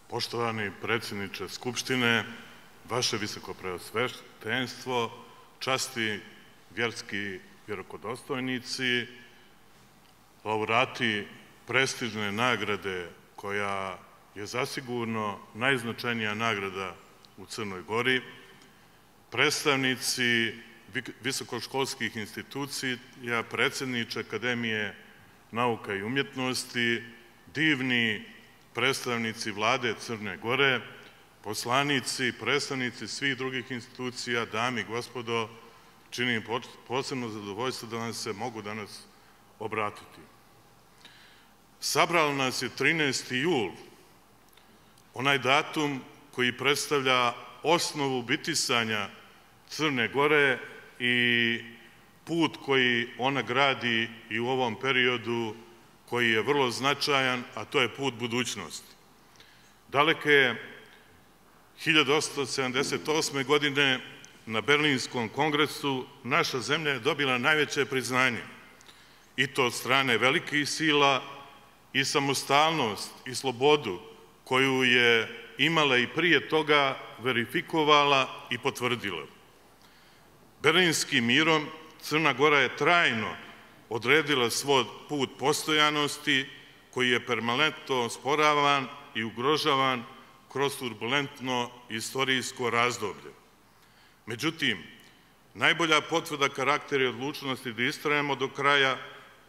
Poštovani predsjedniče Skupštine, vaše visokopreosvetenstvo, časti vjerski vjerokodostojnici, laureati prestižne nagrade koja je zasigurno najznačajnija nagrada u Crnoj Gori, predstavnici visokoškolskih institucija, predsjedniče Akademije nauka i umjetnosti, divni predstavnici vlade Crne Gore, poslanici, predstavnici svih drugih institucija, dame i gospodo, čini mi posebno zadovoljstvo da vam se mogu danas obratiti. Sabralo nas je 13. jul, onaj datum koji predstavlja osnovu bitisanja Crne Gore i put koji ona gradi i u ovom periodu koji je vrlo značajan, a to je put budućnosti. Daleke 1878. godine na Berlinskom kongresu naša zemlja je dobila najveće priznanje, i to od strane velikih sila, i samostalnost i slobodu koju je imala i prije toga verifikovala i potvrdila. Berlinskim mirom Crna Gora je trajno odredila svoj put postojanosti koji je permanentno osporavan i ugrožavan kroz turbulentno istorijsko razdoblje. Međutim, najbolja potvrda karaktera i odlučnosti da istrajemo do kraja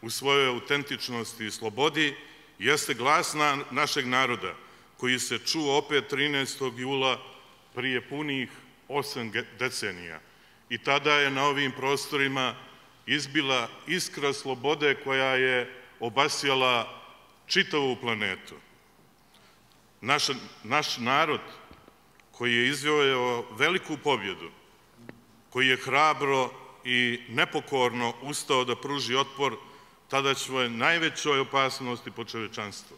u svojoj autentičnosti i slobodi jeste glas našeg naroda koji se čuo opet 13. jula prije punih 8 decenija. I tada je na ovim prostorima izbila iskra slobode koja je obasjala čitavu planetu. Naš narod koji je izvojevao veliku pobjedu, koji je hrabro i nepokorno ustao da pruži otpor tadašnjoj najvećoj opasnosti po čovečanstvu.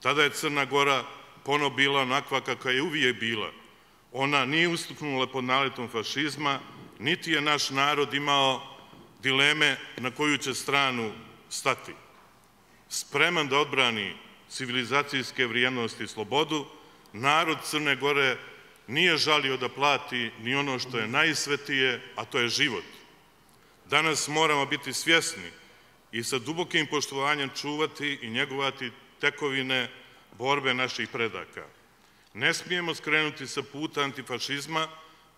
Tada je Crna Gora ponovo bila onakva kakva je uvijek bila. Ona nije ustuknula pod naletom fašizma, niti je naš narod imao dileme na koju će stranu stati. Spreman da odbrani civilizacijske vrijednosti i slobodu, narod Crne Gore nije žalio da plati ni ono što je najsvetije, a to je život. Danas moramo biti svjesni i sa dubokim poštovanjem čuvati i njegovati tekovine borbe naših predaka. Ne smijemo skrenuti sa puta antifašizma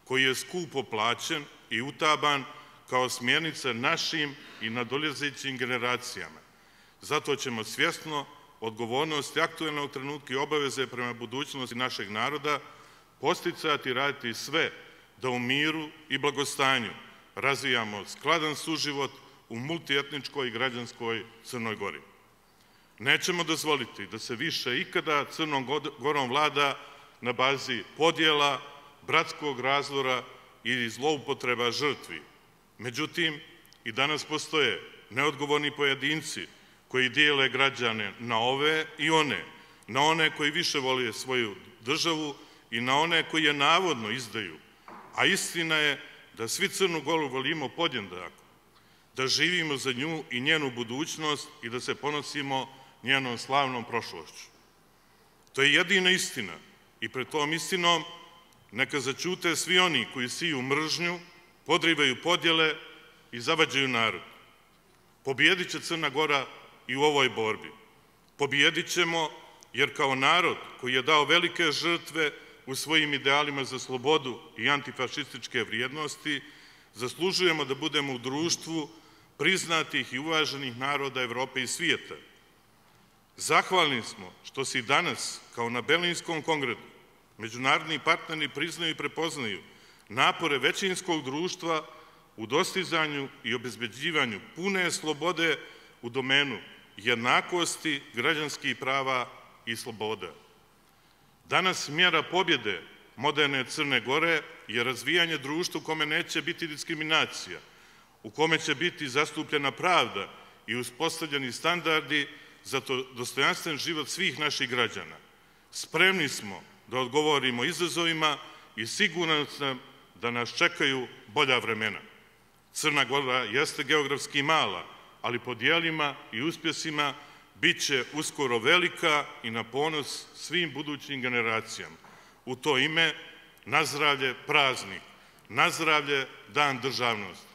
koji je skupo plaćen i utaban kao smjernica našim i nadolazećim generacijama. Zato ćemo svjesno odgovornost aktuelnog trenutka i obaveze prema budućnosti našeg naroda posticati i raditi sve da u miru i blagostanju razvijamo skladan suživot u multietničkoj i građanskoj Crnoj Gori. Nećemo dozvoliti da se više ikada Crnom Gorom vlada na bazi podjela, bratskog razdora i zloupotreba žrtvi. Međutim, i danas postoje neodgovorni pojedinci koji dijele građane na ove i one, na one koji više vole svoju državu i na one koji je navodno izdaju. A istina je da svi Crnu Goru volimo podjednako, da živimo za nju i njenu budućnost i da se ponosimo njenom slavnom prošlošću. To je jedina istina i pred tom istinom neka zaćute svi oni koji siju mržnju, podrivaju podjele i zavađaju narod. Pobijedit će Crna Gora i u ovoj borbi. Pobijedit ćemo jer kao narod koji je dao velike žrtve u svojim idealima za slobodu i antifašističke vrijednosti, zaslužujemo da budemo u društvu priznatih i uvaženih naroda Evrope i svijeta. Zahvalni smo što se i danas, kao na Berlinskom kongresu, međunarodni partneri priznaju i prepoznaju napore većinskog društva u dostizanju i obezbeđivanju pune slobode u domenu jednakosti, građanskih prava i sloboda. Danas mjera pobjede moderne Crne Gore je razvijanje društva u kome neće biti diskriminacija, u kome će biti zastupljena pravda i uspostavljeni standardi za dostojanstven život svih naših građana. Spremni smo da odgovorimo izazovima i siguran sam da nas čekaju bolja vremena. Crna Gora jeste geografski mala, ali po dijelima i uspjesima bit će uskoro velika i na ponos svim budućim generacijama. U to ime, nazdravlje praznik, nazdravlje Dan državnosti.